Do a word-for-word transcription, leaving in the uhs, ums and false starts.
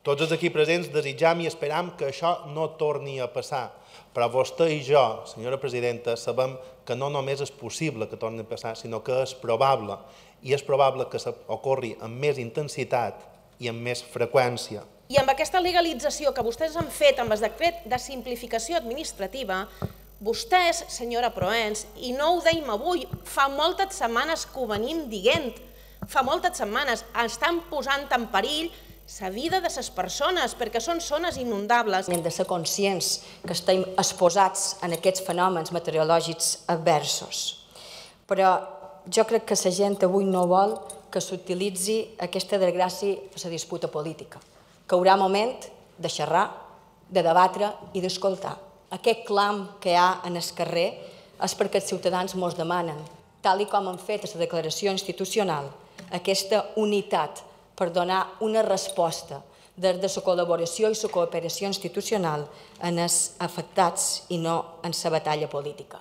Tots els aquí presents desitjam i esperam que això no torni a passar, però vostè i jo, senyora presidenta, sabem que no només és possible que torni a passar, sinó que és probable, i és probable que ocorri amb més intensitat i amb més freqüència. I amb aquesta legalització que vostès han fet amb el decret de simplificació administrativa, vostès, senyora Proens, i no ho deim avui, fa moltes setmanes que ho venim dient, fa moltes setmanes, estan posant en perill la vida de les persones, perquè són zones inundables. Hem de ser conscients que estem exposats en aquests fenòmens meteorològics adversos. Però jo crec que la gent avui no vol que s'utilitzi aquesta desgràcia per la disputa política, que hi haurà moment de xerrar, de debatre i d'escoltar. Aquest clam que hi ha en el carrer és perquè els ciutadans mos demanen, tal com han fet a la declaració institucional, aquesta unitat per donar una resposta des de la col·laboració i la cooperació institucional en els afectats i no en la batalla política.